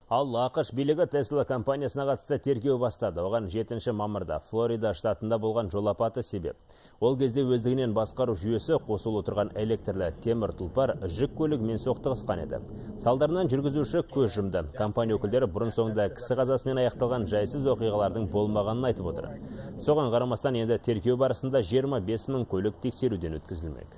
Ал ақш билігі Tesla компаниясына қатысты тергеу бастады. Оған 7 мамырда Флорида штатында болған жол апаты себеп. Ол кезде өздігінен басқару жүйесі қосулы тұрған электрлі темір тұлпар жүк көлігімен соқтығысқан еді. Салдарынан жүргізуші көз жұмды. Компания өкілдері бұрын соңында кісі қазасымен аяқталған жайсыз оқиғалардың болмағанын айтып отыр. Соған қарамастан енді тергеу барысында 25 000 көлік тексеруден өткізілмек.